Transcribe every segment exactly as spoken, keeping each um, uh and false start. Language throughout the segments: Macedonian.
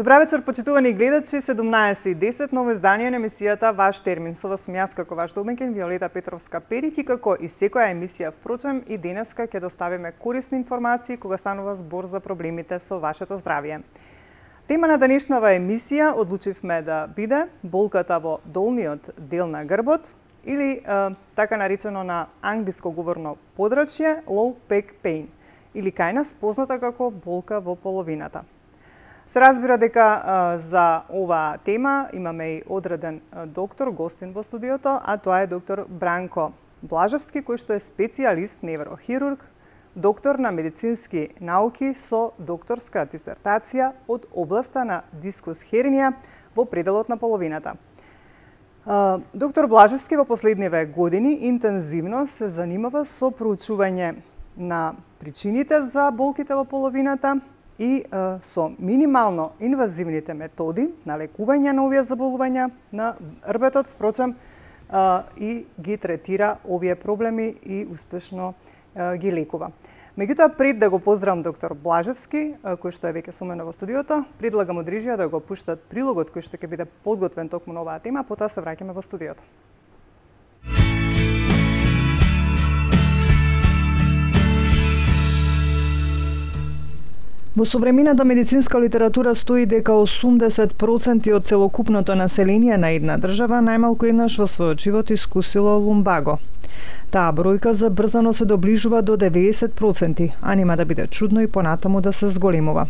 Добра вечер, почитувани гледачи, седумнаесет и десет, ново издание на емисијата Ваш термин. Со вас сум јас како ваш домаќин Виолета Петровска-Перич и како и секоја емисија, впрочем, и денеска ќе доставиме корисни информации кога станува збор за проблемите со вашето здравје. Тема на денешнава емисија одлучивме да биде болката во долниот дел на грбот или е, така наречено на англиско говорно подрачје low back pain или кај нас позната како болка во половината. Се разбира дека а, за оваа тема имаме и одреден а, доктор, гостин во студиото, а тоа е доктор Бранко Блажевски, кој што е специјалист неврохирург, доктор на медицински науки со докторска дисертација од областа на дискус хернија во пределот на половината. А, доктор Блажевски во последниве години интензивно се занимава со проучување на причините за болките во половината и а, со минимално инвазивните методи на лекување на овие заболувања на рбетот, впрочем, а, и ги третира овие проблеми и успешно а, ги лекува. Меѓутоа, пред да го поздравам доктор Блажевски, а, кој што е веќе со мене во студиото, предлагам од режија да го пуштат прилогот кој што ќе биде подготвен токму на оваа тема, потоа се враќаме во студиото. Во современата медицинска литература стои дека осумдесет проценти од целокупното население на една држава најмалку еднаш во својот живот искусило лумбаго. Таа бројка забрзано се доближува до деветдесет проценти, а нема да биде чудно и понатаму да се зголемува.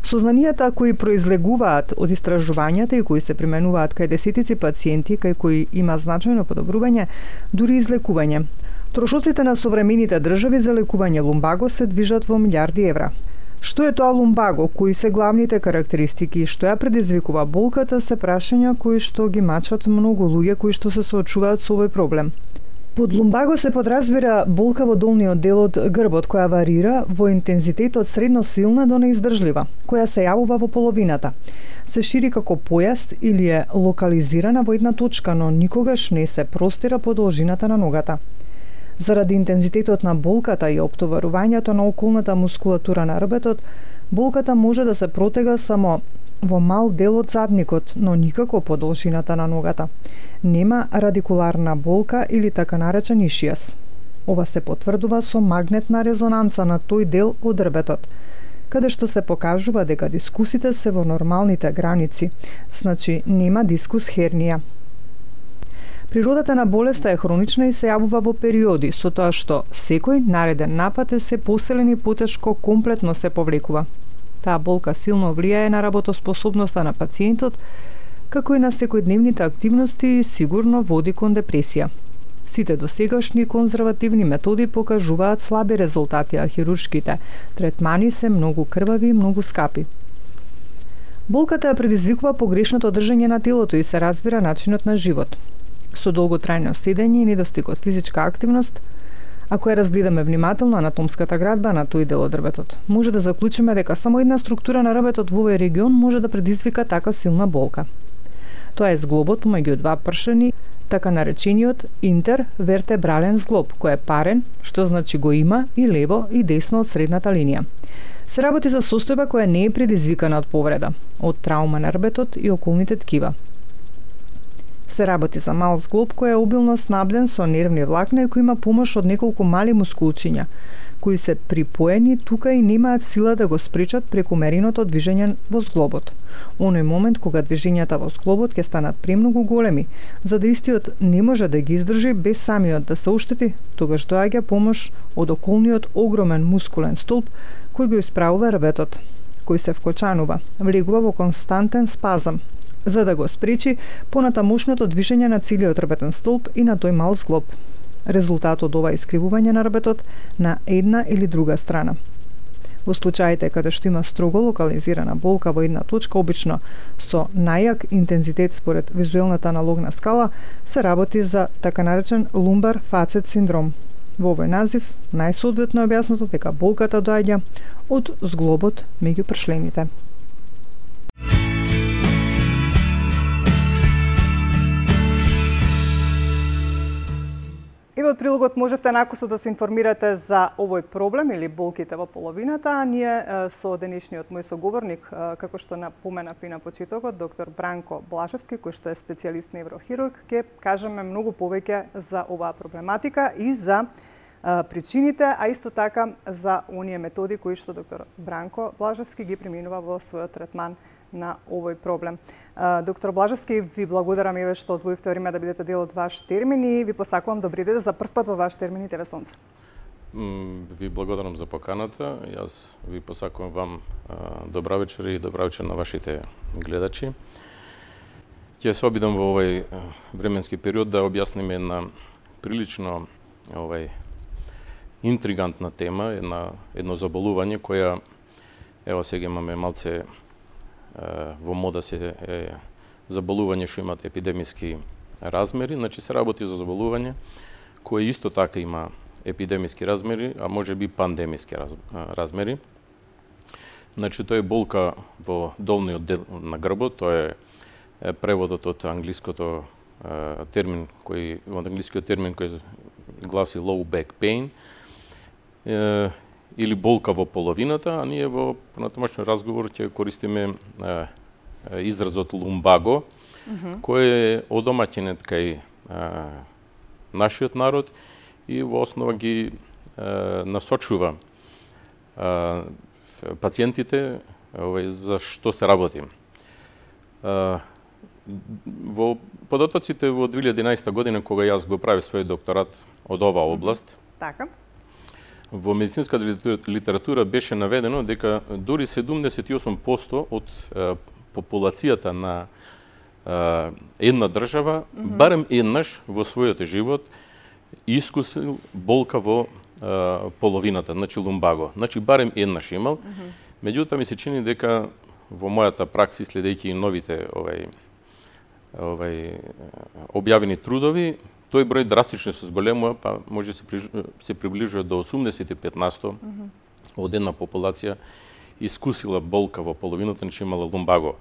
Сознанијата кои произлегуваат од истражувањата и кои се применуваат кај десетици пациенти, кај кои има значајно подобрување, дури излекување. Трошоците на современите држави за лекување лумбаго се движат во милиарди евра. Што е тоа лумбаго, кои се главните карактеристики и што ја предизвикува болката се прашања кои што ги мачат многу луѓе кои што се соочуваат со овој проблем. Под лумбаго се подразбира болка во долниот дел од грбот која варира во интензитет од средно силна до неиздржлива, која се јавува во половината. Се шири како појас или е локализирана во една точка, но никогаш не се простира по должината на ногата. Заради интензитетот на болката и оптоварувањето на околната мускулатура на рбетот, болката може да се протега само во мал дел од задникот, но никако по должината на ногата. Нема радикуларна болка или така наречен ишијас. Ова се потврдува со магнетна резонанца на тој дел од рбетот, каде што се покажува дека дискусите се во нормалните граници, значи нема дискус хернија. Природата на болеста е хронична и се јавува во периоди, со тоа што секој нареден напад е се поселен и потешко комплетно се повлекува. Таа болка силно влијае на работоспособноста на пациентот, како и на секојдневните активности и сигурно води кон депресија. Сите досегашни конзервативни методи покажуваат слаби резултати, а хируршките третмани се многу крвави и многу скапи. Болката ја предизвикува погрешното држање на телото и се разбира начинот на живот. Со долготрајно седење и недостиг од физичка активност, ако ја разгледаме внимателно анатомската градба на тој дел од рбетот, може да заклучиме дека само една структура на рбетот во овој регион може да предизвика така силна болка. Тоа е зглобот помеѓу два пршени, така наречениот интервертебрален зглоб, кој е парен, што значи го има и лево и десно од средната линија. Се работи за состојба која не е предизвикана од повреда, од траума на рбетот и околните ткива. Се работи за мал зглоб кој е обилно снабден со нервни влакна и кој има помош од неколку мали мускулчиња, кои се припоени тука и немаат сила да го спречат прекумереното движење во зглобот. Оној момент кога движењата во зглобот ќе станат премногу големи, за да истиот не може да ги издржи без самиот да се оштети, тогаш доаѓа помош од околниот огромен мускулен столб кој го исправува рбетот, кој се вкочанува, влегува во константен спазам, за да го спречи понатамошното движење на целиот рбетен столб и на тој мал зглоб. Резултат од ова искривување на рбетот на една или друга страна. Во случаите каде што има строго локализирана болка во една точка, обично со најак интензитет според визуелната аналогна скала, се работи за така наречен лумбар фацет синдром. Во овој назив најсоодветно е објаснато дека болката доаѓа од зглобот меѓу пршлените. од прилогот можевте накусо да се информирате за овој проблем или болките во половината, а ние со денешниот мој соговорник, како што напоменав и на почетокот, доктор Бранко Блажевски, кој што е специјалист неврохирург, ќе кажеме многу повеќе за оваа проблематика и за причините, а исто така за оние методи кои што доктор Бранко Блажевски ги приминува во својот третман на овој проблем. Доктор Блажевски, ви благодарам еве што одвоивте време да бидете дел од ваш термин и ви посакувам добри ден за прв пат во ваш термин и ТВ Сонце. Ви благодарам за поканата. Јас ви посакувам вам добра вечер и добра вечер на вашите гледачи. Ќе се обидам во овој временски период да објасниме една прилично овај интригантна тема, една едно заболување која ево сега имаме малце во мода се е заболување што имат епидемиски размери, значи се работи за заболување кое исто така има епидемиски размери, а може би пандемиски раз, размери. Значи тоа е болка во долниот дел на грбот, тоа е преводот од англиското термин кој од англискиот термин кој гласи low back pain е, или болка во половината, а ние во понатамошен разговор ќе користиме е, изразот лумбаго, mm -hmm. кој е одомаќенет кај е, нашиот народ и во основа ги е, насочува е, пациентите овај, за што се работи. Е, во податоците во две илјади и единаесета година, кога јас го правив свој докторат од оваа област, така, во медицинска литература беше наведено дека дури седумдесет и осум проценти од е, популацијата на е, една држава, mm -hmm. барем еднаш во својот живот искусил болка во е, половината, значи лумбаго. Значи барем еднаш имал. Mm -hmm. Меѓутоа ми се чини дека во мојата пракси, следејќи и новите овај овај објавени трудови, тој број драстично се зголемува, па може се се приближува до осумдесет и пет на сто mm -hmm. од една популација искусила болка во половината, значи имала лумбаго.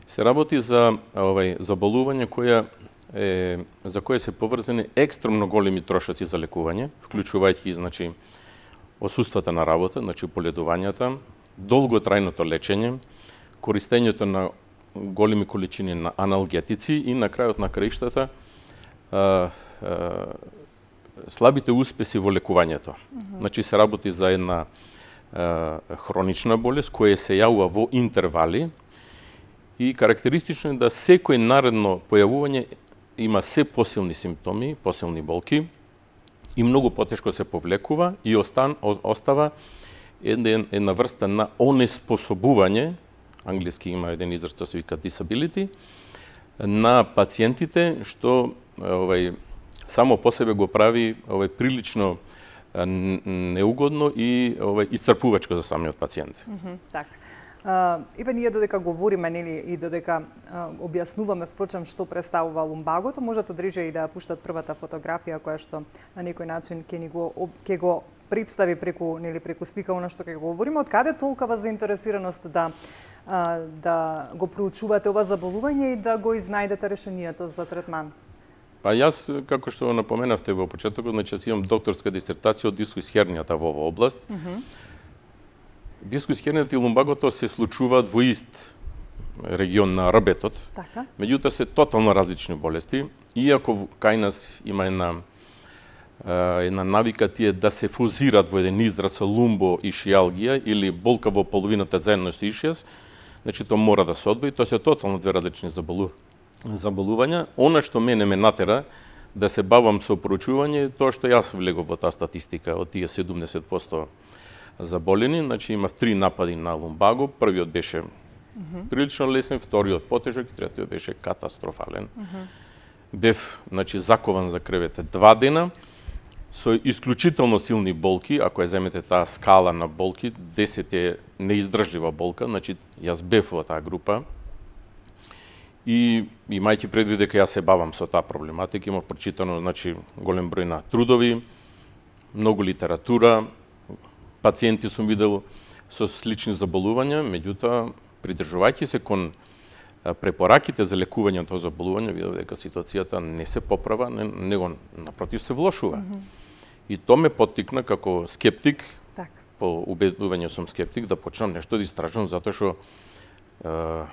Се работи за овај заболување која е за кое се поврзани екстремно големи трошоци за лекување, вклучувајќи значи осуствата на работа, значи поледувањата, долготрајното лечење, користењето на големи количини на аналгетици и на крајот на краиштата а, а, слабите успеси во лекувањето. Mm -hmm. Значи се работи за една а, хронична болест која се јавува во интервали и карактеристично е да секој наредно појавување има се посилни симптоми, посилни болки и многу потешко се повлекува и остан, остава една, една врста на онеспособување, англиски има еден израз што се вика disability, на пациентите, што овај само по себе го прави овај прилично неугодно и овај исцрпувачко за самиот пациент. Mm -hmm, така. Uh, Иве ние додека говориме нели и додека uh, објаснуваме впрочем што представува лумбагото, можат одреже и да пуштат првата фотографија која што на некој начин ќе ни го ќе го представи преку нели преку слика она што ќе го говориме. Од каде толкова заинтересираност да uh, да го проучувате ова заболување и да го изнајдете решението за третман? Па јас, како што напоменавте во почетокот, значи имам докторска дисертација од дискус хернијата во оваа област. Mm -hmm. Дискус хернијата и лумбагото се случуваат во ист регион на рбетот. Така. Меѓутоа се тотално различни болести, иако кај нас има една една навика тие да се фузираат во еден израз лумбо и шијалгија или болка во половината заедно со ишијас, значи тоа мора да се одвои, тоа се тотално две различни заболу... заболувања. Она што мене ме натера да се бавам со проучување, тоа што јас влегов во таа статистика од тие седумдесет проценти заболени, значи имав три напади на лумбаго, првиот беше mm -hmm. прилично лесен, вториот потежок и третиот беше катастрофален. Mm -hmm. Бев, значи, закован за кревете два дена, со исклучително силни болки, ако ја земете таа скала на болки, десет е неиздржлива болка, значи јас бев во таа група. И имајќи предвид дека јас се бавам со таа проблематика, имав прочитано, значи, голем број на трудови, многу литература, пациенти сум видел со слични заболувања, меѓутоа, придржувајќи се кон препораките за лекување на тоа заболување, видов дека ситуацијата не се поправа, не, него напротив се влошува. Mm -hmm. И тоа ме поттикна како скептик, так. По убедување сум скептик, да почнам нешто да истражувам, затоа што Uh,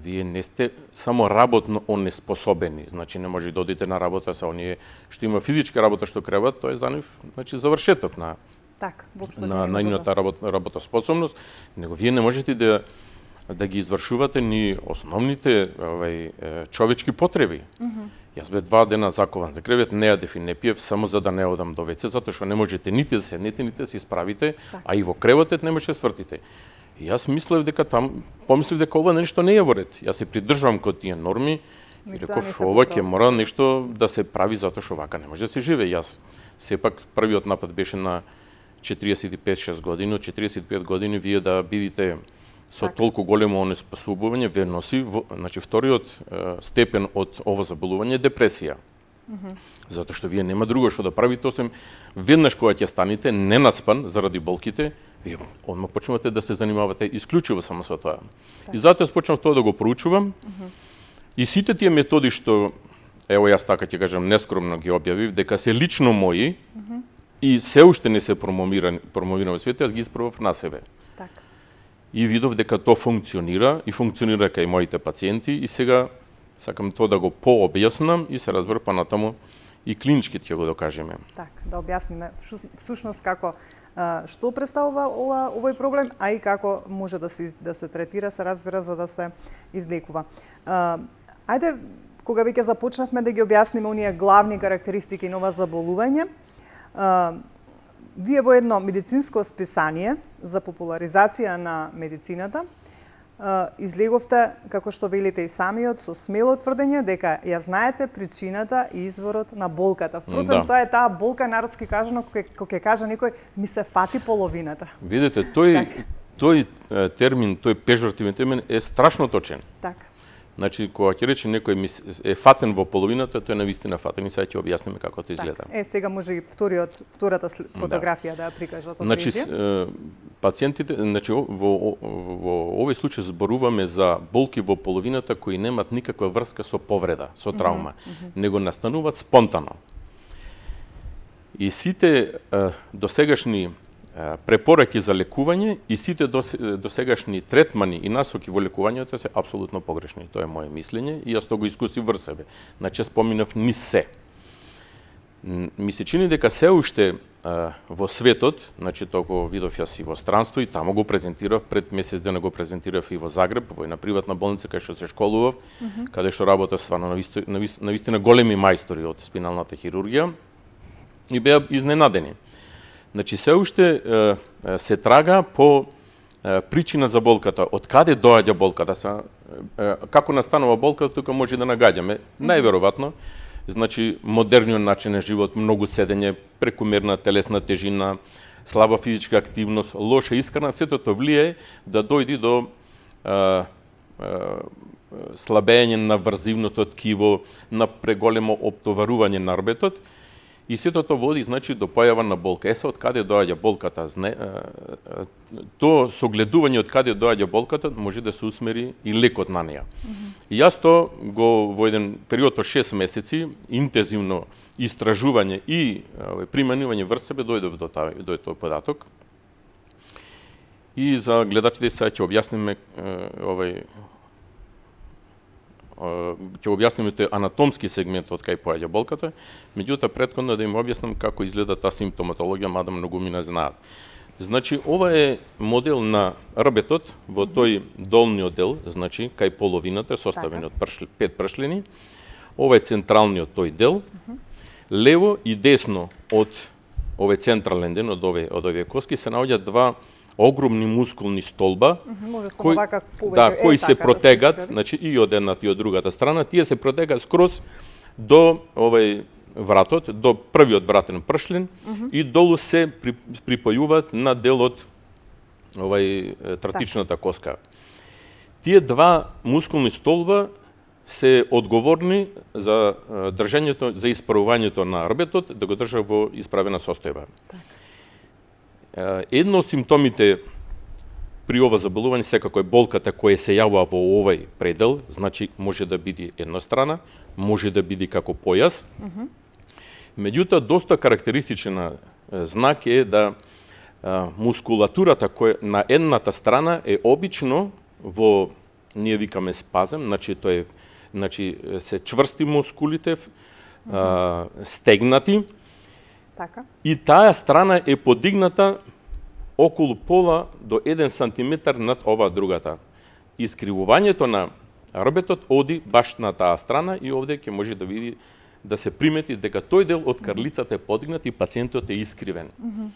вие не сте само работно онеспособени, значи не може да одите на работа со оние што има физичка работа што креват, тоа е за нив, значи завршеток на так, на најната работа, работоспособност, него вие не можете да да ги извршувате ни основните овај човечки потреби. Mm -hmm. Јас бе два дена закован за кревет, не јадев и не пиев само за да не одам до веце, затоа што не можете нити да седнете, нити да се исправите, так. А и во креветот не можете да свртите. И јас мислев дека там, помислив дека ова нешто не е во ред. Јас се придржувам кон тие норми и реков ова ќе мора нешто да се прави затоа што вака не може да се живее. Јас сепак првиот напад беше на четириесет и пет шест години, од четириесет и пет години вие да бидите со так. Толку големо онеспособување ве носи, значи вториот е, степен од ова заболување е депресија. Mm -hmm. Затоа што вие нема друго што да правите освен веднаш кога ќе станете ненаспан заради болките, вие одма почнувате да се занимавате исклучиво само со тоа. Так. И затоа почнав тоа да го проучувам. Mm -hmm. И сите тие методи што ево јас така ќе кажам нескромно ги објавив дека се лично мои mm -hmm. и се уште не се промовирани промовирани во светот, јас ги испробав на себе. Так. И видов дека тоа функционира и функционира кај моите пациенти и сега сакам тоа да го пообјаснам и се разбира понатаму и клинички ќе го докажеме. Так, да објасниме всушност како што представува ова овој проблем, а и како може да се да се третира, се разбира за да се излекува. Ајде, кога веќе започнавме да ги објасниме оние главни карактеристики на ова заболување, вие во едно медицинско списание за популаризација на медицината излеговте, како што велите и самиот, со смело тврдење дека ја знаете причината и изворот на болката. Впрочем, да. Тоа е таа болка, народски кажано, кога ќе каже некој, ми се фати половината. Видите, тој, тој термин, тој пежортивен термин е страшно точен. Така. Значи, кога ќе рече некој е фатен во половината, тој е навистина фатен и сега ќе објасниме како тоа изгледа. Е, сега може и вториот, втората фотографија да, да ја прикажат. Значи, пациентите, значи во, во, во овој случај зборуваме за болки во половината кои немаат никаква врска со повреда, со травма, mm -hmm. него настануваат спонтано. И сите е, досегашни препораки за лекување и сите досегашни третмани и насоки во лекувањето се апсолутно погрешни. Тоа е моје мислење и јас тоа го искусив врз себе. Значи, споминав ни се. Ми се чини дека се уште а, во светот, значи тоа видов јас и во странство и тамо го презентирав, пред месец дена го презентирав и во Загреб, во една приватна болница кај што се школував, mm -hmm. каде што работа стварно на вистина големи мајстори од спиналната хирургија и беа изненадени. Значи, се уште е, се трага по е, причина за болката. Од каде доаѓа болката? Са, е, како настанува болката, тука може да нагаѓаме. Најверојатно, значи, модерниот начин на живот, многу седење, прекумерна телесна тежина, слаба физичка активност, лоша исхрана, сето тоа влијае да дојде до е, е, слабење на врзивното ткиво, на преголемо оптоварување на арбетот, и сето тоа води, значи, до појава на болка. Еса, од каде доаѓа болката? То согледување од каде доаѓа болката може да се усмери и лекот на неја. Mm -hmm. И јас то го во еден период од шест месеци интензивно истражување и применување врз себе дојдов до тај до тој податок. И за гледачите сега ќе објасниме овај ќе објасниме тој анатомски сегмент од кај поаѓа болката, меѓутоа претходно да им објаснам како изгледа таа симптоматологија, мада многу ми не знаат. Значи, ова е модел на рбетот во тој долниот дел, значи, кај половината, составен од пршл, пет пршлени. Ова е централниот тој дел. Лево и десно од овој централен дел, од овие, од овие коски, се наоѓаат два огромни мускулни столба, кои, да, кои е, се така, протегат, да се значи и од едната и од другата страна, тие се протегаат скроз до овој вратот, до првиот вратен пршлен, uh -huh. и долу се при, припојуваат на делот овај тратичната коска. Тие два мускулни столба се одговорни за држањето, за исправувањето на рбетот, да го држа во исправена состојба. Так. Едно од симптомите при ова заболување секако е болката која се јавува во овој предел, значи може да биде еднострана, може да биде како појас. Mm -hmm. Меѓутоа, доста карактеристичен знак е да а, мускулатурата која на едната страна е обично во, ние викаме спазем, значи тоа е, значи се чврсти мускулите, mm -hmm. а, стегнати. Така. И таа страна е подигната околу пола до еден сантиметар над ова другата. Искривувањето на рбетот оди баш на таа страна и овде ќе може да види, да се примети дека тој дел од карлицата е подигнат и пациентот е искривен. Mm -hmm.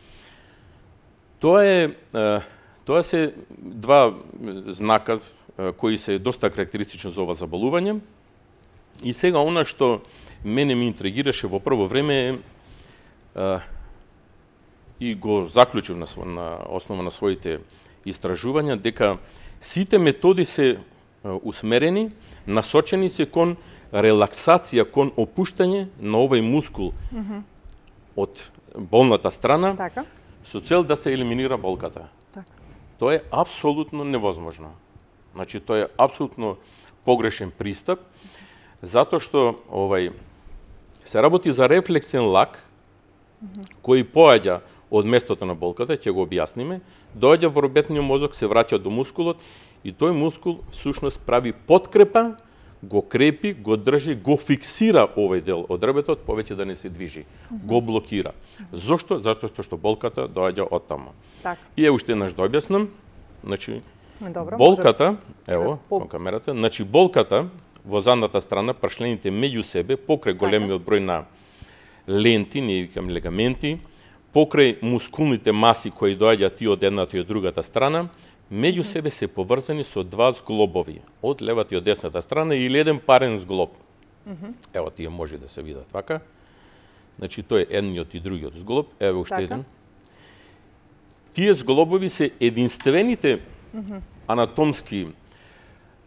Тоа е, тоа се два знака кои се доста карактеристични за ова заболување. И сега она што мене ми интригираше во прво време е и го заклучив на, на основа на своите истражувања, дека сите методи се усмерени, насочени се кон релаксација, кон опуштање на овој мускул mm -hmm. од болната страна, така, со цел да се елиминира болката. Така. Тоа е апсолутно невозможно. Значи, тоа е апсолутно погрешен пристап, затоа што овај се работи за рефлексен лак, mm -hmm. кој поаѓа од местото на болката, ќе го објасниме, доаѓа во робетниот мозок, се враќа до мускулот и тој мускул всушност прави подкрепа, го крепи, го држи, го фиксира овој дел од ребетот, повеќе да не се движи, mm -hmm. го блокира. Зошто? Зашто што болката доаѓа од таму. Так. И е уште еднаш да објаснам, значи добро, болката, може... ево, по камерата, значи болката во задната страна, прашлените меѓу себе, покрај големиот број на ленти, ние викаме легаменти, покрај мускулните маси кои доаѓаат и од едната и од другата страна, меѓу себе се поврзани со два зглобови, од левата и од десната страна или еден парен зглоб. Mm -hmm. Ево, тие може да се видат вака. Значи, тој е едниот и другиот зглоб. Ево уште така. Еден. Тие зглобови се единствените mm -hmm. анатомски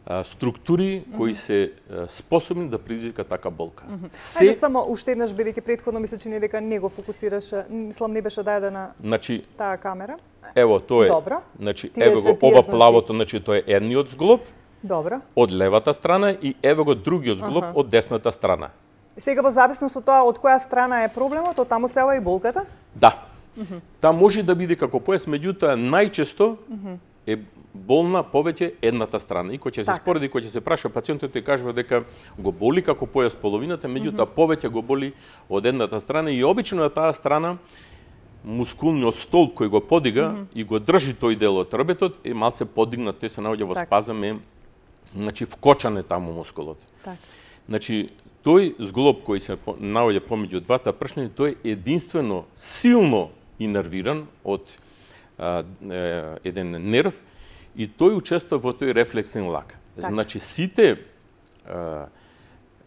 а, структури кои mm -hmm. се а, способни да предизвикат така болка. Mm -hmm. Се... Ајде само уште еднаш, бидејќи претходно ми се чини дека не го фокусираше, мислам не беше дадена значи, таа камера. Ево, тоа е. Добро. Значи, ево го ова плавото, значи тоа е едниот зглоб. Добро. Од левата страна и ево го другиот зглоб uh -huh. од десната страна. Сега во зависност од тоа од која страна е проблемот, од таму се ова и болката? Да. Uh -huh. Та може да биде како појас, меѓутоа најчесто uh -huh. е болна повеќе едната страна. И кој ќе се так. спореди, кој ќе се праша пациентот и кажува дека го боли како појас половината, меѓутоа uh -huh. повеќе го боли од едната страна и обично на таа страна мускулниот столб кој го подига mm -hmm. и го држи тој дел од рбетот е малце подигнат, тој се наоѓа во так. спазам, е значи вкочан е таму мускулот. Так. Значи тој зглоб кој се наоѓа помеѓу двата пршња, тој е единствено силно инервиран од а, е, еден нерв и тој учествува во тој рефлексен лак. Так. Значи сите а,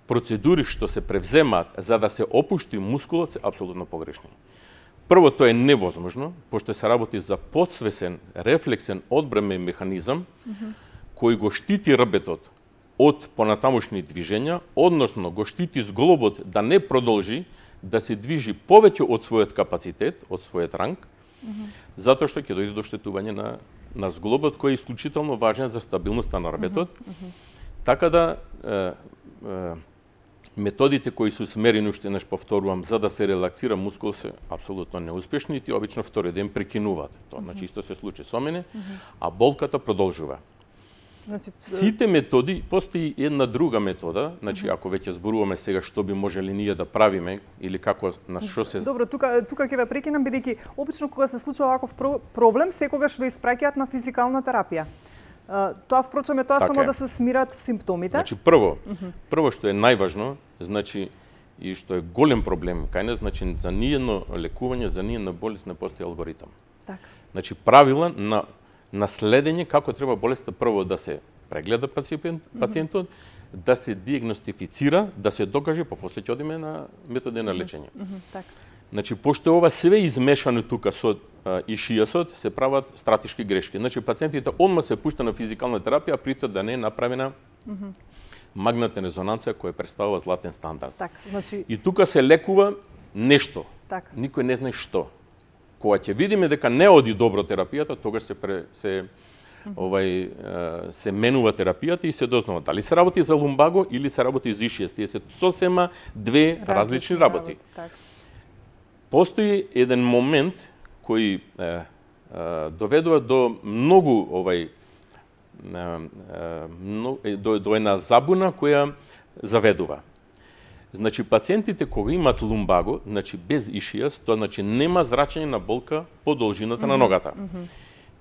процедури што се превземаат за да се опушти мускулот се апсолутно погрешни. Прво, тоа е невозможно, пошто се работи за подсвесен, рефлексен, одбранен механизам, mm -hmm. кој го штити рбетот од понатамошни движења, односно го штити зглобот да не продолжи да се движи повеќе од својот капацитет, од својот ранг, mm -hmm. затоа што ќе дојде до штетување на, на зглобот, кој е исклучително важен за стабилноста на рбетот. Mm -hmm. Така да, е, е, методите кои се усмерени, уште еднаш повторувам, за да се релаксира мускул се апсолутно неуспешни и ти обично втори ден прекинуваат. Тоа, mm -hmm. значи, исто се случи со мене, mm -hmm. а болката продолжува. Значи, сите методи, постои една друга метода, значи, mm -hmm. ако веќе зборуваме сега што би можеле ние да правиме, или како, на што се... Добро, тука, тука ќе ве прекинам, бидејќи обично кога се случува ваков проблем, секогаш ве испраќаат на физикална терапија. Uh, тоа впрочем е тоа така само е. Да се смират симптомите. Значи прво, uh -huh. прво што е најважно, значи и што е голем проблем кај нас, значи за ниедно лекување, за ниедна болест не постои алгоритам. Така. Значи правила на на следење како треба болеста прво да се прегледа пациент, пациентот, uh -huh. да се диагностифицира, да се докаже, па после ќе одиме на методи на лечење. Uh -huh. Така. Значи пошто ова све измешано тука со и шијасот, се прават стратешки грешки. Значи, пациентите одма се пушта на физикална терапија, притоа да не е направена mm -hmm. магнетна резонанција која представува златен стандард. Так, значи... И тука се лекува нешто. Так. Никој не знае што. Кога ќе видиме дека не оди добро терапијата, тогаш се, пре, се овај се менува терапијата и се дознава дали се работи за лумбаго или се работи за ишијас. Тие се сосема две различни, различни работи. работи. Постои еден момент кој е, е, доведува до многу овај е, е, до, до една забуна која заведува. Значи пациентите кога имаат лумбаго, значи без ишијас, тоа значи нема зрачење на болка по должината mm -hmm. на ногата. Mm -hmm.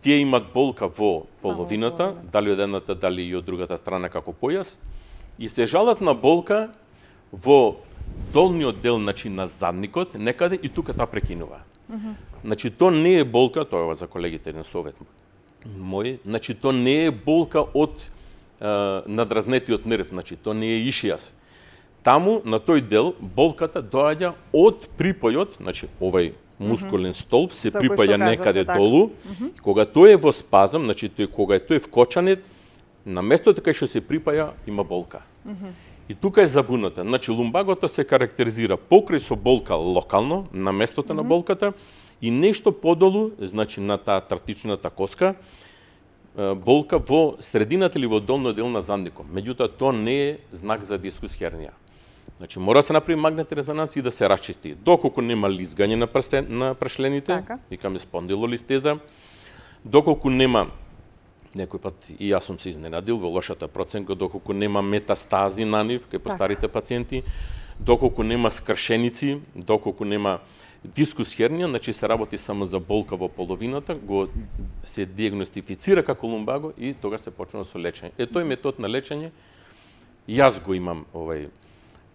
Тие имаат болка во половината, Само, дали од едната, дали и од другата страна како појас, и се жалат на болка во долниот дел, значи на задникот, некаде и тука таа прекинува. Mm -hmm. Значи тоа не е болка, тоа е за колегите на совет мој, значи тоа не е болка од е, надразнетиот нерв, значи тоа не е ишијас. Таму на тој дел болката доаѓа од припојот, значи овај мускулен столб се припаја некаде така. долу. Mm -hmm. Кога тој е во спазам, значи тој кога е тој вкочанет, на местото кај што се припаја има болка. Mm -hmm. И тука е забуната. Значи лумбагото се карактеризира покрај со болка локално на местото mm -hmm. на болката и нешто подолу, значи на таа тратичната коска, болка во средината или во долниот дел на задникот. Меѓутоа тоа не е знак за дискус хернија. Значи мора да се направи магнетна резонанција и да се расчисти. Доколку нема лизгање на прстен, на прашлените, така. Викаме спондилолистеза, доколку нема, некој пат и јас сум се изненадил во лошата проценка, доколку нема метастази на нив кај постарите пациенти, доколку нема скршеници, доколку нема дискус хернија, значи се работи само за болка во половината, го се диагностифицира како лумбаго и тога се почнува со лечење. Е тој метод на лечење јас го имам овај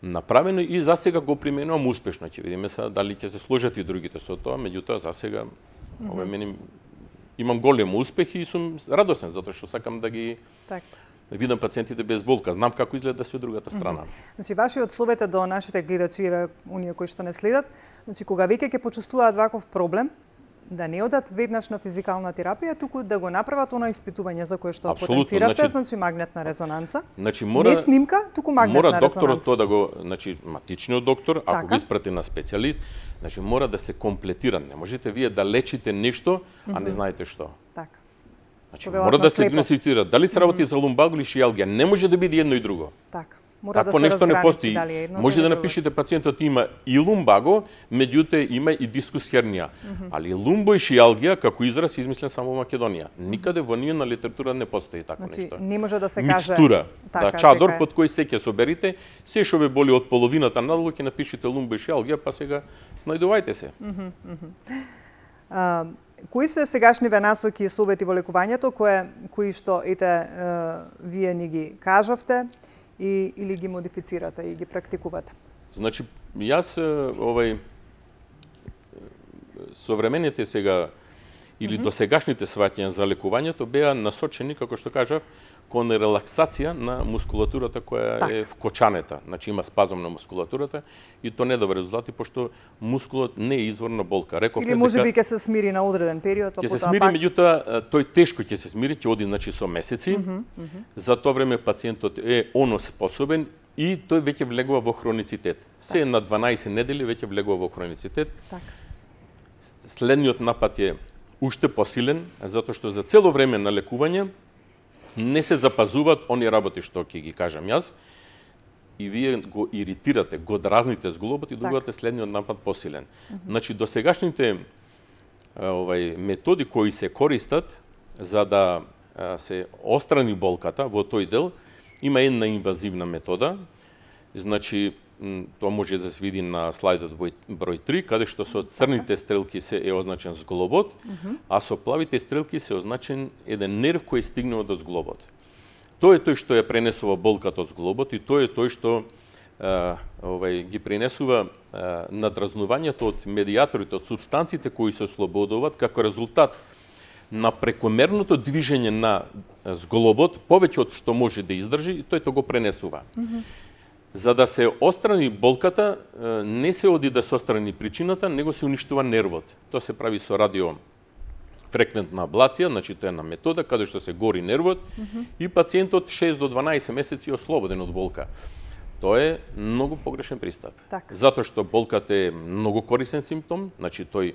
направено и засега го применувам успешно. Ќе видиме сега дали ќе се сложат и другите со тоа, меѓутоа засега mm -hmm. овај мене имам голем успех и сум радосен затоа што сакам да ги так. да видам пациентите без болка. Знам како изгледа се од другата страна. Mm -hmm. Значи вашиот совет до нашите гледачи, оние кои што не следат, значи кога веќе ќе почувствуваат ваков проблем, да не одат веднаш на физикална терапија, туку да го направат она испитување за кое што Апсолутно, потенцирате, значи, значи магнетна резонанца. Значи мора не снимка, туку магнетна мора резонанца. Мора докторот тоа да го, значи матичниот доктор, ако така. го испрати на специјалист, значи мора да се комплетира. Не можете вие да лечите нешто, а не знаете што. Така. Значи мора да се диагностицира дали се работи mm -hmm. за лумбаго или шијалгија, не може да биде едно и друго. Така. Мора Такво да се нешто не постои. Едно, може да напишете пациентот има и лумбаго, меѓутоа има и дискус хернија. Mm -hmm. Али лумбо и шијалгија како израз измислен само во Македонија. Никаде во ние на литература не постои такво значи, нешто. Не може да се каже микстура, така, да чадор така под кој се ќе соберите, се што ве боли од половината надолу ќе напишете лумбо и шијалгија, па сега снајдувајте се. Mm -hmm, mm -hmm. А, кои се сегашниве насоки и совети во лекувањето кои кои што ете вие ни ги кажавте? И, или ги модифицирате и ги практикувате? Значи, јас овај современите сега или mm -hmm. досегашните сваќања за лекувањето беа насочени, како што кажав, кон релаксација на мускулатурата која так. е вкочанета. Значи има спазам на мускулатурата и тоа не дава резултати пошто мускулот не е извор на болка. Реков или можеби ќе се смири на одреден период, ќе се смири, пак... меѓутоа тој тешко ќе се смири, ќе оди значи со месеци. Mm -hmm, mm -hmm. За тоа време пациентот е оноспособен и тој веќе влегува во хроницитет. Се так. на дванаесет недели веќе влегува во хроницитет. Так. Следниот напад е уште посилен, затоа што за цело време на лекување не се запазуваат они работи што ќе ги кажам јас и вие го иритирате, го дразните зглобот и добивате следниот напад посилен. Mm -hmm. Значи досегашните овај методи кои се користат за да се острани болката во тој дел, има една инвазивна метода. Значи тоа може да се види на слайдот број три, каде што со црните стрелки се е означен зглобот, mm -hmm. а со плавите стрелки се означен еден нерв кој е стигнал до зглобот. Тоа е тој што ја пренесува болката од зглобот и тоа е тој што а, овај ги пренесува а, надразнувањето од медијаторите, од супстанциите кои се ослободуваат како резултат на прекомерното движење на зглобот, повеќе од што може да издржи, и тој тоа го пренесува. Mm -hmm. За да се острани болката, не се оди да се острани причината, него се уништува нервот. Тоа се прави со радиофреквентна аблација, значи тоа е една метода каде што се гори нервот mm -hmm. и пациентот шест до дванаесет месеци е ослободен од болка. Тоа е многу погрешен пристап. Так. Затоа што болката е многу корисен симптом, значи тој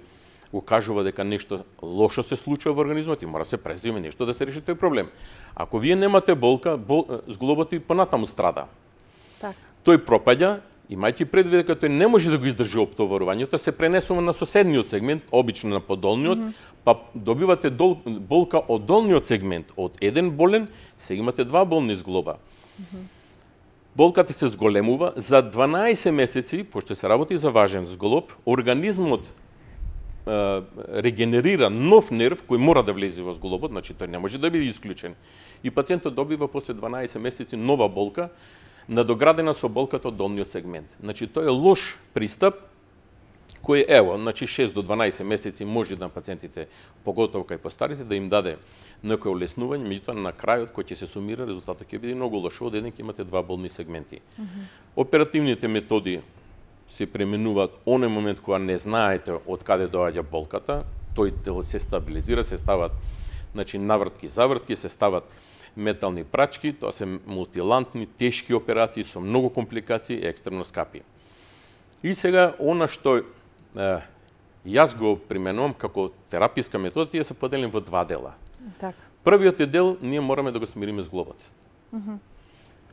укажува дека нешто лошо се случува во организмот и мора се преземе нешто да се реши тој проблем. Ако вие немате болка, бол, зглобот и понатаму страда. Така. Тој пропаѓа, имајќи предвид дека тој не може да го издржи оптоварувањето, се пренесува на соседниот сегмент, обично на подолниот, mm -hmm. па добивате дол, болка од долниот сегмент. Од еден болен, се имате два болни зглоба. Mm -hmm. Болката се зголемува за дванаесет месеци, пошто се работи за важен зглоб, организмот е, регенерира нов нерв кој мора да влезе во зглобот, значи тој не може да биде исклучен. И пациентот добива после дванаесет месеци нова болка, надоградена со болката од долниот сегмент. Значи тој е лош пристап кој ево, значи шест до дванаесет месеци може да пациентите, поготово кај постарите, да им даде некој олеснување, меѓутоа на крајот кој ќе се сумира, резултатот ќе биде многу лош. Од еден ќе имате два болни сегменти. Mm -hmm. Оперативните методи се пременуваат оној момент кога не знаете од каде доаѓа болката, тој дел се стабилизира, се стават значи навртки, завртки, се стават метални прачки, тоа се мултилантни, тешки операции со многу компликации и екстремно скапи. И сега, она што е, јас го применувам како тераписка метода, тие се поделени во два дела. Так. Првиот дел, ние мораме да го смириме зглобот. Mm -hmm.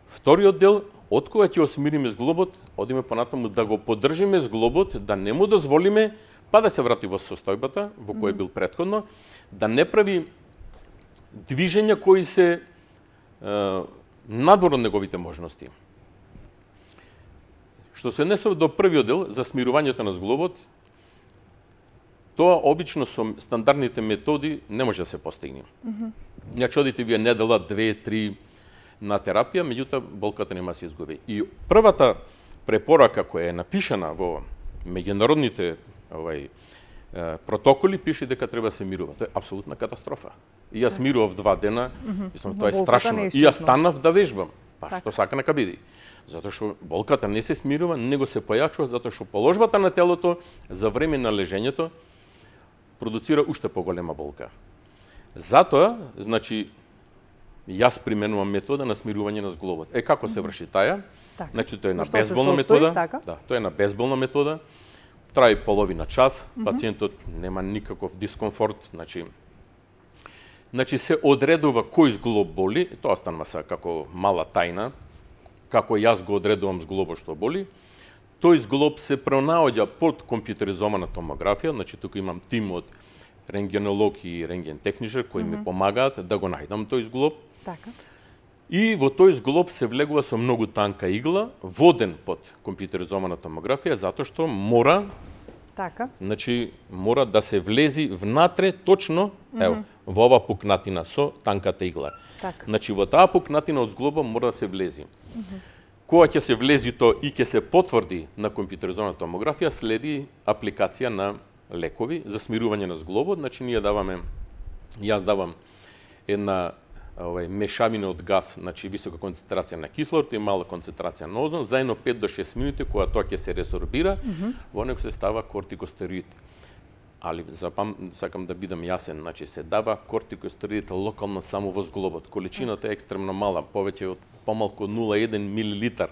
Вториот дел, од кога ќе го смириме зглобот, одиме понатаму да го поддржиме зглобот, да не му дозволиме, па да се врати во состојбата, во која бил претходно, да не прави движења кои се е, надвор од неговите можности. Што се однесува до првиот дел, за смирувањето на зглобот, тоа обично со стандардните методи не може да се постигне. Mm -hmm. Значи, одите вие недела, две, три на терапија, меѓутоа болката нема се изгуби. И првата препорака која е напишана во меѓународните овај протоколи пише дека треба да се мирува. Тоа е апсолутна катастрофа. И јас мирував два дена, мислам, mm -hmm. тоа е страшно. И јас станав да вежбам. Па так. Што сака нека биде. Затоа што болката не се смирува, него се појачува, затоа што положбата на телото за време на лежењето продуцира уште поголема болка. Затоа, значи, јас применувам метода на смирување на зглобот. Е, како се врши таја? Так. Значи, тоа е на безболна метода. Така? Да, тоа е на безболна метода. Трае половина час, пациентот нема никаков дискомфорт, значи, значи се одредува кој зглоб боли, тоа станува са како мала тајна, како јас го одредувам зглобот што боли. Тој зглоб се пронаоѓа под компјутеризована томографија, значи тука имам тим од рентгенолог и рентген техничар кои mm -hmm. ми помагаат да го најдам тој зглоб. Така. И во тој зглоб се влегува со многу танка игла, воден под компјутеризована томографија, затоа што мора така. Значи мора да се влези внатре точно, mm -hmm. ево, во ова пукнатина со танката игла. Така. Значи во таа пукнатина од зглоба мора да се влези. Mm -hmm. Кога ќе се влези тоа и ќе се потврди на компјутеризована томографија, следи апликација на лекови за смирување на зглобот. Значи ние даваме, јас давам една овај мешавина од газ, значи висока концентрација на кислород и мала концентрација на озон, заедно пет до шест минути кога тоа ќе се ресорбира, mm -hmm. во него се става кортикостероид. Али запам, сакам да бидам јасен, значи се дава кортикостероид локално само во зглобот. Количината е екстремно мала, повеќе од помалку од нула целу еден милилитар.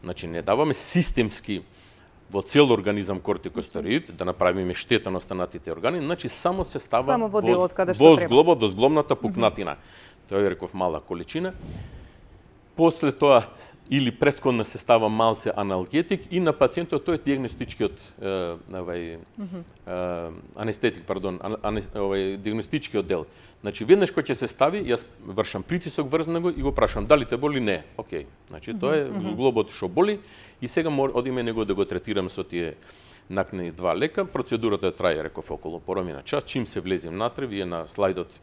Значи не даваме системски во цел организам кортикостероид да направиме штета на останатите органи, значи само се става само во, делот, во, во зглобот, во зглобната пукнатина. Mm -hmm. Тоа е реков мала количина. После тоа или претходно се става малце аналгетик и на пациентот тој е диагностичкиот овај mm -hmm. анестетик, пардон, ане, овај диагностичкиот дел. Значи веднаш кога ќе се стави, јас вршам притисок врз него и го прашам дали те боли, не. Океј. Значи тоа е mm -hmm. зглобот што боли и сега мор, одиме него да го третираме со тие накнени два лека. Процедурата трае реков околу половина час. Чим се влезе внатре, вие на слайдот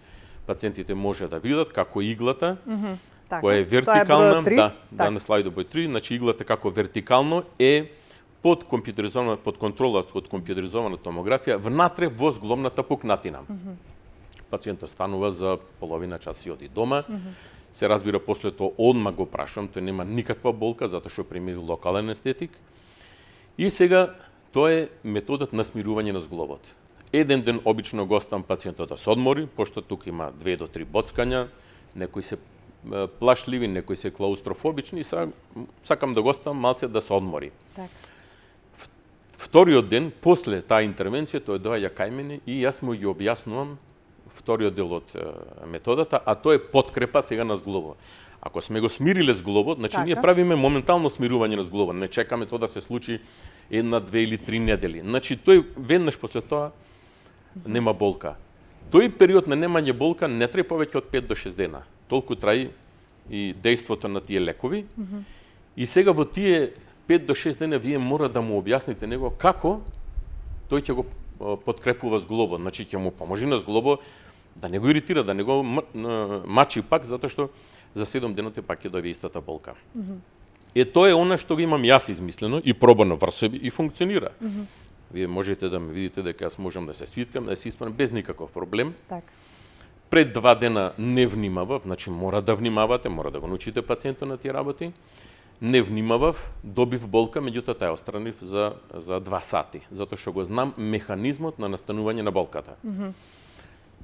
пациентите може да видат како иглата mm -hmm. Така. Која е вертикална, е да, да, на слайдот број три, значи иглата како вертикално е под компјутеризована, под контрола од компјутеризована томографија внатре во зглобната пукнатина. Mm -hmm. Пациентот станува за половина час и оди дома. Mm -hmm. Се разбира после тоа одма го прашам, тој нема никаква болка затоа што примери локален анестетик. И сега тоа е методот на смирување на зглобот. Еден ден обично го оставам пациентот да се одмори, пошто тука има две до три боцкања, некои се плашливи, некои се клаустрофобични, и сакам да го оставам малце да се одмори. Так. вториот ден, после таа интервенција, тој доаѓа кај мене и јас му ги објаснувам вториот дел од методата, а тоа е подкрепа сега на зглобот. Ако сме го смириле зглобот, значи така. Ние правиме моментално смирување на зглобот, не чекаме тоа да се случи една, две или три недели. Значи тој веднаш после тоа нема болка. Тој период на немање болка не трае повеќе од пет до шест дена. Толку траи и дејството на тие лекови. Mm -hmm. И сега во тие пет до шест дена вие мора да му објасните него како тој ќе го подкрепува зглобот. Значи ќе му поможи на зглобот да не го иритира, да не го мачи пак, затоа што за седум деноти пак ќе добие истата болка. Mm -hmm. Е, тоа е она што го имам јас измислено и пробано врз себе и функционира. Mm -hmm. Вие можете да ме видите дека јас можам да се свиткам, да се исправам без никаков проблем. Так. Пред два дена не внимавав, значи мора да внимавате, мора да го научите пациентот на тие работи. Не внимавав, добив болка, меѓутоа таа отстранив за за два сати, затоа што го знам механизмот на настанување на болката. Mm -hmm.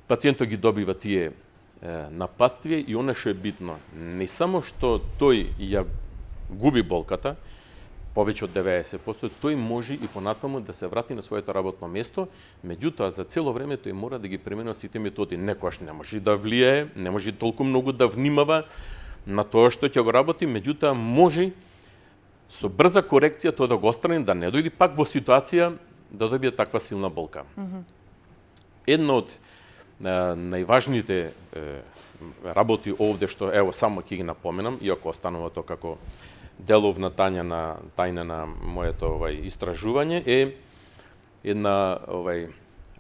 Пациентот ги добива тие е, нападствија и она што е битно, не само што тој ја губи болката, повеќе од деветдесет проценти, тој може и понатаму да се врати на своето работно место, меѓутоа за цело време тој мора да ги применува сите методи. Некојаш не може да влијае, не може толку многу да внимава на тоа што ќе го работи, меѓутоа може со брза корекција тоа да го отстрани, да не дојде пак во ситуација да добие таква силна болка. Mm -hmm. Една од е, најважните е, работи овде што ево само ќе ги напоменам, иако останува тоа како деловна тања на тајна на моето овај истражување, е една овај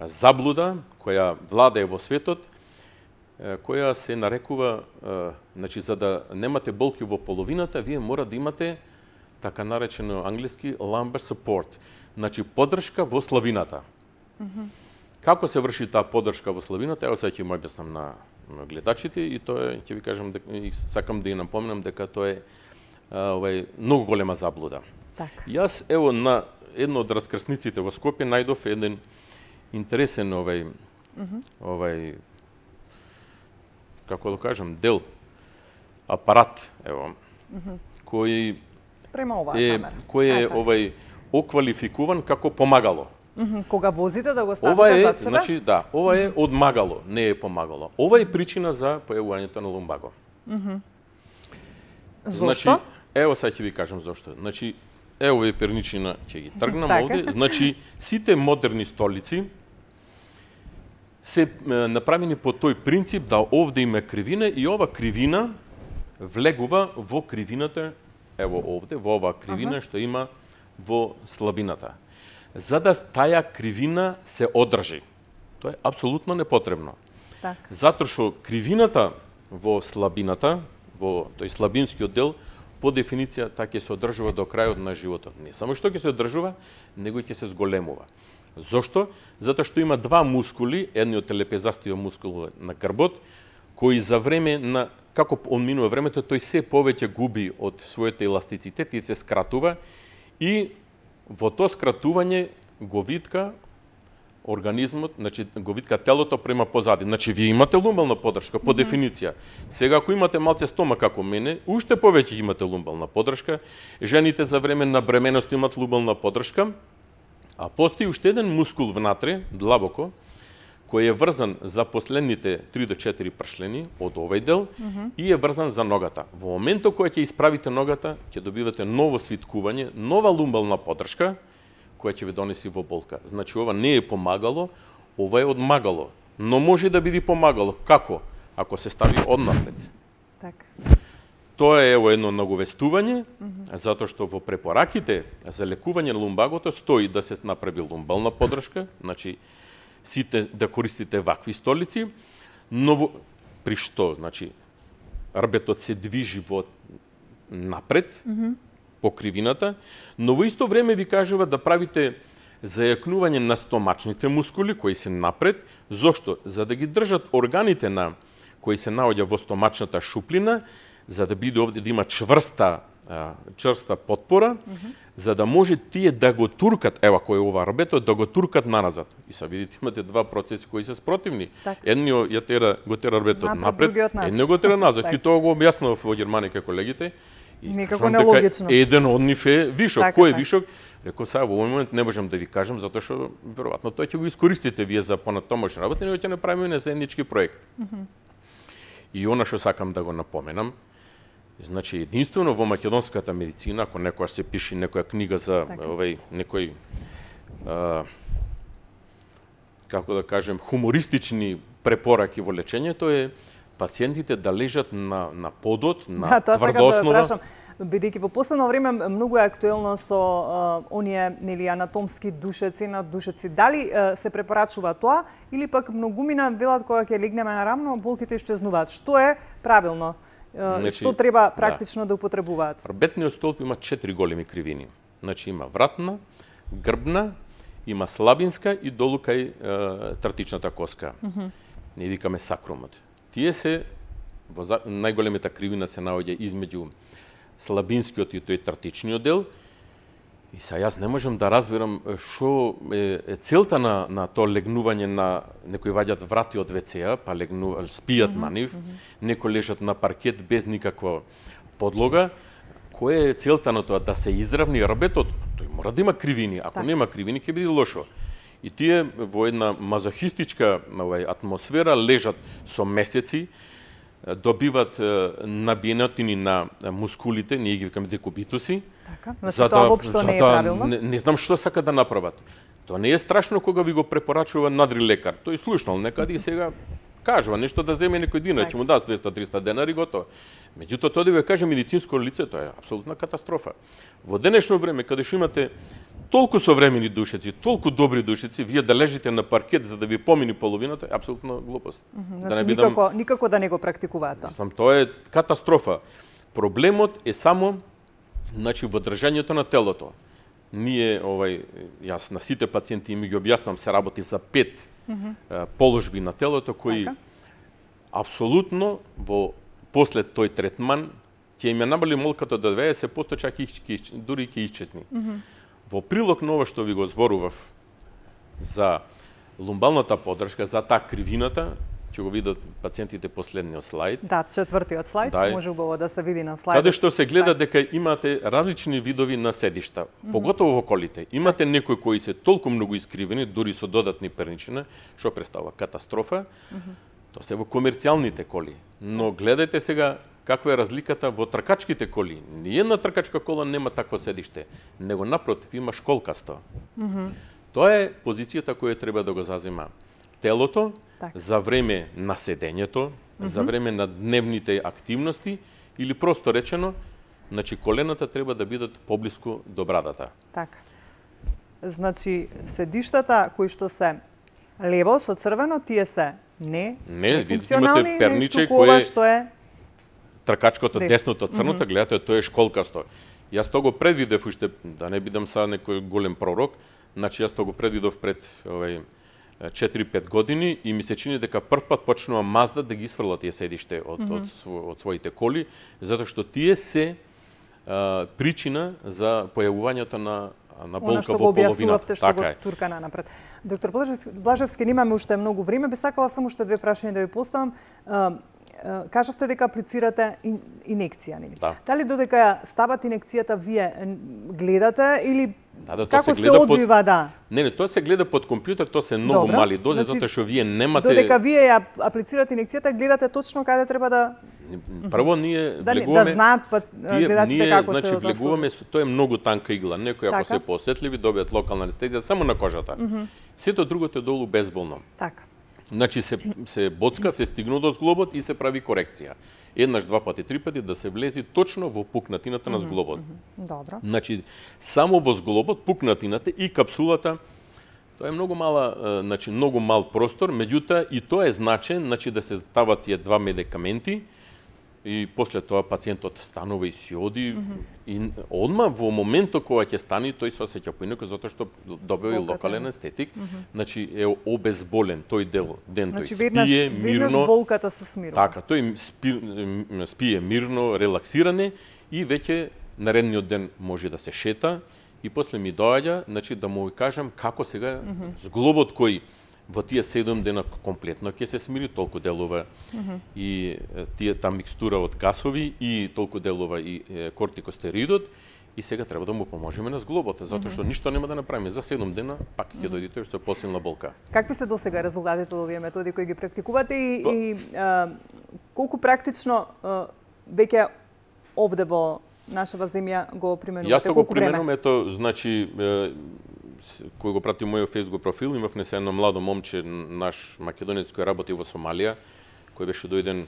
заблуда која владее во светот, која се нарекува, значи за да немате болки во половината, вие мора да имате така наречено англиски lumbar support, значи поддршка во слабината. Mm -hmm. Како се врши таа поддршка во слабината? Ево сега ќе му објаснам на, на гледачите и тоа е, ќе ви кажам дека и сакам да ја напомнам дека тоа е овај многу голема заблуда. Так. Јас ево на едно од раскрсниците во Скопје најдов еден интересен овај mm -hmm. овај како да кажам дел апарат ево mm -hmm. кој према оваа е камера. кој е овај оквалификуван како помагало. Mm -hmm. Кога возите да го ставите ова е, зад себе? Значи, да, ова е одмагало, не е помагало. Ова е причина за појавувањето на лумбаго. Mm -hmm. Зошто? Значи, ево сега ќе ви кажам зошто. Значи, ево овие перничина ќе ги тргнам овде. Значи, сите модерни столици се е, направени по тој принцип да овде има кривина и ова кривина влегува во кривината, ево овде, во оваа кривина ага. што има во слабината. За да таа кривина се одржи. Тоа е апсолутно непотребно. Так. Затоа што кривината во слабината, во тој слабинскиот дел, по дефиниција таа ќе се одржува до крајот на животот. Не само што ќе се одржува, него ќе се зголемува. Зошто? Затоа што има два мускули, едниот е лепезастиот мускул на грбот, кој за време на како одминува времето, тој се повеќе губи од својата еластицитет и се скратува и во тоа скратување го витка организмот, значи го витка телото према позади. Значи вие имате лумбална поддршка по mm -hmm. дефиниција. Сега ако имате малце стомак како мене, уште повеќе имате лумбална поддршка. Жените за време на бременост имат лумбална поддршка, а постои уште еден мускул внатре, длабоко, кој е врзан за последните три до четири пршлени од овој дел mm -hmm. и е врзан за ногата. Во моментот кога ќе исправите ногата, ќе добивате ново свиткување, нова лумбална поддршка, која ќе ви донеси во болка. Значи, ова не е помагало, ова е одмагало. Но може да биде помагало. Како? Ако се стави однапред. Так. Тоа е ево едно наговестување, mm -hmm. затоа што во препораките за лекување на лумбагото стои да се направи лумбална поддршка, значи сите да користите вакви столици, но во, при што, значи, рбетот се движи во напред, mm -hmm. по кривината, но во исто време ви кажува да правите зајакнување на стомачните мускули кои се напред. Зошто? За да ги држат органите на кои се наоѓа во стомачната шуплина, за да биде овде да има чврста, чврста потпора, mm -hmm. за да може тие да го туркат, ева кој е ова рбето, да го туркат наназад. И са видите, имате два процеси кои се спротивни. Едниот ја тера, го тера рбетот напред, едниот го тера назад. И тоа го објаснував во Германија колегите. Некако нелогично. Еден од нив е вишок. Така, Кој е така. вишок? Реков, сега во овој момент не можам да ви кажам, затоа што веројатно тој ќе го искористите вие за понатомошна работа, него ќе направиме на заеднички проект. Mm -hmm. И она што сакам да го напоменам, значи единствено во македонската медицина, ако некоја се пише некоја книга за така. овој некој а, како да кажем хумористични препораки во лечењето е пациентите да лежат на на подот, на да, тоа тврда основа. Да, бидејќи во последно време многу е актуелно со а, оние нели анатомски душеци на душеци. Дали а, се препорачува тоа или пак многумина велат кога ќе легнеме на рамно, болките исчезнуваат. Што е правилно? А, значи, што треба практично да, да употребуваат? Рбетниот столб има четири големи кривини. Значи има вратна, грбна, има слабинска и долу кај е, тартичната коска. Mm -hmm. Не викаме сакрумот. Тие се во најголемата кривина се наоѓа измеѓу слабинскиот и тој тартичниот дел. И са јас не можам да разберам што е, е целта на на тоа легнување на некои ваѓат врати од ве це-а, па легнуваат, спијат mm -hmm. на нив, mm -hmm. некои лежат на паркет без никаква подлога. Која е целта на тоа? Да се изравни рбетот? Тој мора да има кривини. Ако так. нема кривини, ќе биде лошо. И тие во една мазохистичка овај, атмосфера лежат со месеци, добиват набиенатини на мускулите, ние ги викаме декубитуси. Така, значи тоа воопшто не е правилно? Не, не знам што сака да направат. Тоа не е страшно кога ви го препорачува надри лекар. Тој слушнал некаде и сега кажува нешто да земе некој динар, ќе му даде двеста триста денари готово. Меѓутоа тоа да ви каже медицинско лице, тоа е апсолутна катастрофа. Во денешно време каде што имате толку современи душеци, толку добри душеци, вие да лежите на паркет за да ви помини половината, е апсолутно глупост. Mm -hmm. Значи, да не бидам... никако, никако да не го практикуваат тоа. Мислам, тоа е катастрофа. Проблемот е само значи во држањето на телото. Ние овај јас на сите пациенти им ги објаснам, се работи за пет mm -hmm. положби на телото кои така? Апсолутно во после тој третман ќе им ја намали молката до дваесет проценти, чак и дури ќе исчезни. Mm -hmm. Во прилог на ова што ви го зборував за лумбалната поддршка, за таа кривината, ќе го видат пациентите последниот слајд. Да, четвртиот слајд, да, може убаво да се види на слајдот. Каде што се гледа дека имате различни видови на седишта, mm -hmm. поготово во колите. Имате некои кои се толку многу искривени, дури со додатни перничина, што представува катастрофа. Mm -hmm. Тоа се во комерцијалните коли. Но гледајте сега каква е разликата во тркачките коли. Ниједна тркачка кола нема такво седиште, него напротив има школкасто. Mm -hmm. Тоа е позицијата која треба да го зазема телото так. за време на седењето, mm -hmm. за време на дневните активности или просто речено, значи колената треба да бидат поблиску до брадата. Така. Значи седиштата кои што се лево со црвено, тие се не не имате перниче кој што е тркачкото десното црното, mm -hmm. гледате, тоа е школкасто. Јас тоа го предвидев уште, да не бидам са некој голем пророк, значи јас тоа го предвидов пред овај четири-пет години и ми се чини дека прв пат почнува Mazda да ги исфрлат тие седиште од, mm -hmm. од, од, од своите коли, затоа што тие се а, причина за појавувањето на на болка во половината. Што така го турка нанапред. Доктор Блажевски, Блажевски, немаме уште многу време, би сакала само уште две прашања да ви поставам. Кажавте дека аплицирате инекција, нели? Да. Дали додека ја стават инекцијата вие гледате или да, да, како се, се одвива, под... да? Не, не, тоа се гледа под компјутер, тоа се многу Добра. мали дози, значи, затоа што вие немате... Додека вие ја аплицирате инекцијата, гледате точно каде треба да... Прво ние да, влегуваме... Да знаат пат, гледачите ние, како значи, се... Значи, влегуваме, тоа е многу танка игла. Некои ако така? се поосетливи, добијат локална анестезија само на кожата. Mm -hmm. Сето другото е долу безболно. Така. Значи се се боцка, се стигнува до зглобот и се прави корекција. Еднаш, два пати, три пати да се влези точно во пукнатината на зглобот. Mm -hmm. Добро. Значи само во зглобот, пукнатината и капсулата, тоа е многу мала, значи многу мал простор, меѓутоа и тоа е значен, значи да се стават тие два медикаменти и после тоа пациентот станува и си оди mm -hmm. и одма во моментот кога ќе стани тој се осеќа поинаку затоа што добива и локален естетик, mm -hmm. значи е обезболен тој дел ден, значи, тој веднаш, спие веднаш мирно. болката се смирува. Така, тој спи, спие мирно, релаксиране и веќе наредниот ден може да се шета и после ми доаѓа, значи да му кажам како сега mm -hmm. зглобот кој во тие седум дена комплетно ќе се смири, толку делува mm -hmm. и тие та микстура од гасови и толку делува и е, кортикостероидот, и сега треба да му поможеме на зглобата, затоа што mm -hmm. ништо нема да направиме. За седум дена пак ќе mm -hmm. дојде тој што е посилна болка. Какви се досега резултатите од овие методи кои ги практикувате и, По... и а, колку практично а, веќе овде во нашава земја го применувате? Јас го применувам, ето, значи, е, кој го прати мојот Facebook профил, имав не се едно младо момче, наш македонец кој работи во Сомалија, кој беше дојден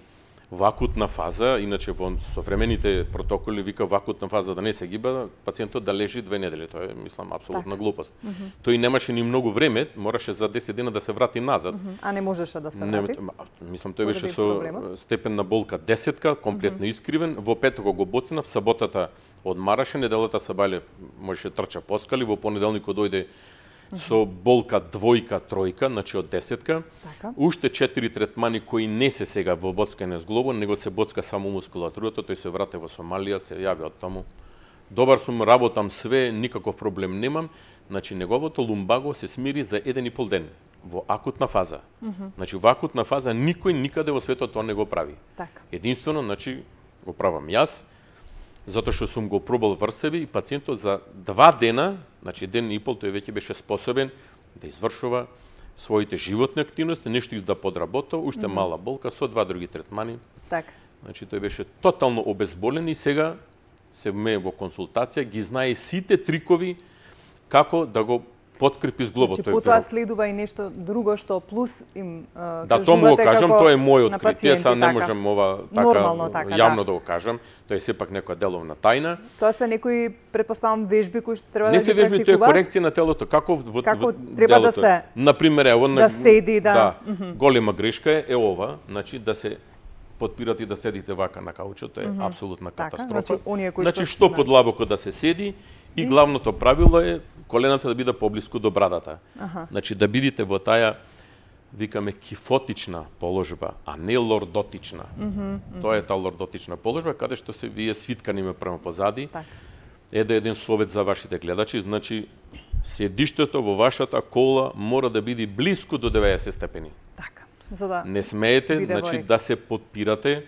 во акутна фаза, иначе во современите протоколи вика во акутна фаза да не се гиба, пациентот да лежи две недели, тоа е, мислам, апсолутна так. глупост. Mm -hmm. Тој немаше ни многу време, мораше за десет дена да се врати назад. Mm -hmm. А не можеше да се врати? Не, мислам, тој беше со степен на болка десетка, комплетно mm -hmm. искривен, во петокот го боцна, в саботата одмараше, неделата сабале можеше трча по скали, во понеделникот дојде со болка двојка, тројка, значи од десетка. Така. Уште четири третмани кои не се сега во боцкање с глобо, него се боцка само мускулатурата, тој се врате во Сомалија, се јави од таму. Добар сум, работам све, никаков проблем немам. Значи неговото лумбаго се смири за еден и пол ден во акутна фаза. Mm -hmm. Значи во акутна фаза никој никаде во светот тоа не го прави. Така. Единствено, значи го правам јас, затоа што сум го пробал врз себе и пациентот за два дена, значи ден и пол, тој веќе беше способен да извршува своите животни активности, нешто да подработа, уште mm -hmm. мала болка со два други третмани. Така. Значи тој беше тотално обезболен и сега се ме во консултација ги знае сите трикови како да го подкрепи зглобот. Значи, потоа следува и нешто друго што плюс им uh, да, тоа му го кажам, тоа е мој откритие, сега не можам ова така, нормално, така јавно да. да го кажам, тоа е сепак некоја деловна тајна. Тоа се некои, предпоставам, вежби кои што треба не да ги практикуваат. Не се вежби, тоа е корекција на телото, како во, како во треба делото. да се Например, ево, да седи, да. да mm -hmm. голема грешка е, е ова, значи да се подпирате и да седите вака на каучот, тоа е mm -hmm. апсолутна катастрофа. Така, значи, оние кои значи што подлабоко да се седи и, и главното правило е колената да биде поблиску до брадата. Аха. Значи да бидите во таа, викаме, кифотична положба, а не лордотична. Mm -hmm, mm -hmm. Тоа е таа лордотична положба, каде што се вие свиткани ме према позади. Так. Еде еден совет за вашите гледачи, значи седиштето во вашата кола мора да биде блиску до деветдесет степени. Така. За да не смеете, значи да се подпирате,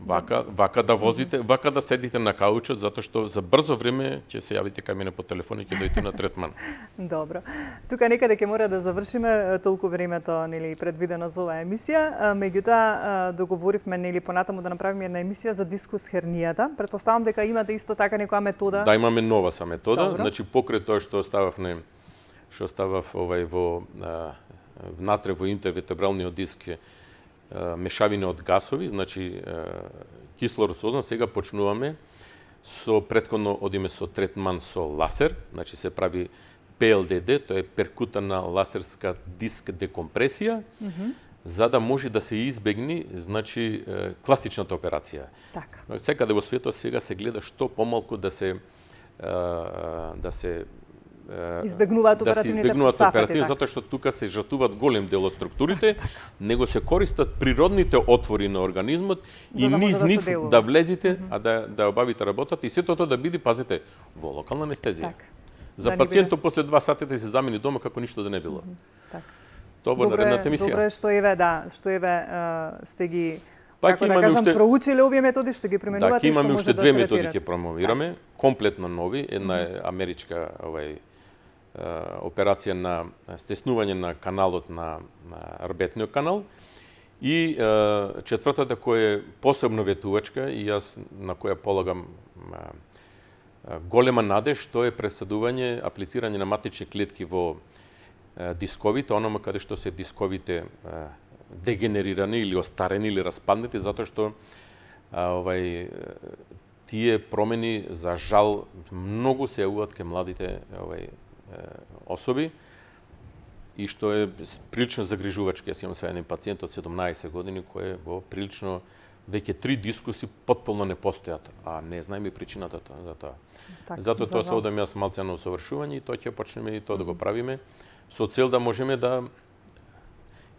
вака, вака да возите, вака да седите на каучот, затоа што за брзо време ќе се јавите кај мене по телефон и ќе дојдете на третман. Добро. Тука некаде ќе мора да завршиме, толку времето нели предвидено за оваа емисија. Меѓутоа договоривме нели понатаму да направиме една емисија за дискус хернијата. Претпоставам дека имате исто така некоја метода. Да, имаме нова са метода. Добро. Значи покрај тоа што оставав не што оставав овај во а, внатре во интервертебралниот диск мешавина од гасови, значи кислород со озон, сега почнуваме со претходно одиме со третман со ласер, значи се прави Пе Ел Де Де, тоа е перкутана ласерска диск декомпресија, mm -hmm. за да може да се избегне, значи класичната операција. Така. Секаде во светот сега се гледа што помалку да се да се избегнуваат да се избегнуваат оперативни, затоа што тука се жртвуваат голем дел од структурите, так, так. него се користат природните отвори на организмот и да низ нив да, да влезите, mm -hmm. а да да обавите работата и сето тоа да биде, пазите, во локална анестезија. Так. За да пациентот биде... после два сати да се замени дома како ништо да не било. Mm -hmm. Так. Тоа во наредната емисија. Добре, што еве, да, што еве сте ги Пак како да кажам, уште... проучиле овие методи, што ги применувате, да, имаме уште да две методи ќе промовираме, да. Комплетно нови, една е америчка овај операција на стеснување на каналот на, на рбетниот канал и е, четвртата која е посебно ветувачка и јас на која полагам е, голема надеж, тоа е пресадување, аплицирање на матични клетки во е, дисковите, онома каде што се дисковите е, дегенерирани или остарени или распаднати, затоа што а, овај тие промени за жал многу се јавуваат кај младите овај особи и што е прилично загрижувачки. Јас имам сега еден пациент од седумнаесет години кој е во прилично веќе три дискуси потполно не постојат, а не знаеме и причината за тоа. Так, Затоа за тоа се одам јас малце на усовршување и тоа ќе почнеме и тоа да го правиме со цел да можеме да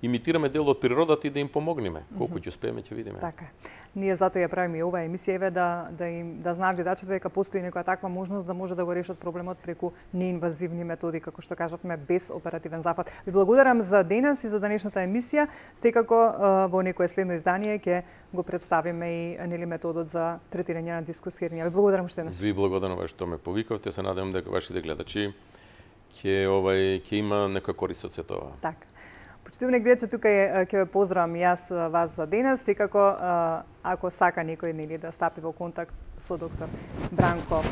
имитираме дел од природата и да им помогнеме. Колку ќе успееме, ќе видиме. Така. Ние затоа ја правиме и оваа емисија еве да да им да знаат гледачите дека постои некоја таква можност да може да го решат проблемот преку неинвазивни методи, како што кажавме, без оперативен запад. Ви благодарам за денес и за денешната емисија. Секако во некое следно издание ќе го представиме и нели методот за третирање на дискус хернија. Ви благодарам уште еднаш. Ви благодарам што ме повикавте. Се надевам дека вашите гледачи ќе овај ќе има некоја корист од сето ова. Така. Почитувани гледачи, тука е, ќе ве поздравам јас вас за денес. Секако, ако сака некој нели да стапи во контакт со доктор Бранко,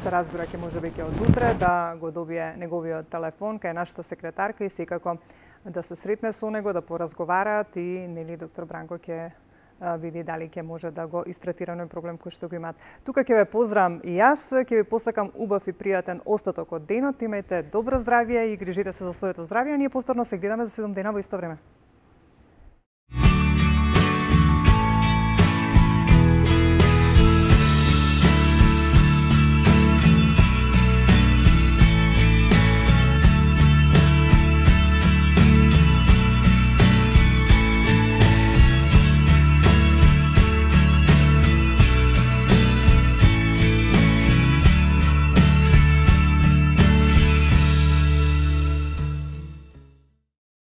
се разбира ќе може веќе од утре да го добие неговиот телефон кај нашата секретарка и секако да се сретне со него, да поразговараат и нели доктор Бранко ќе види дали ќе може да го истретира на проблем кој што го имаат. Тука ќе ве поздравам и јас, ќе ви посакам убав и пријатен остаток од денот. Имајте добро здравје и грижите се за своето здравје. Ние повторно се гледаме за седум дена во исто време.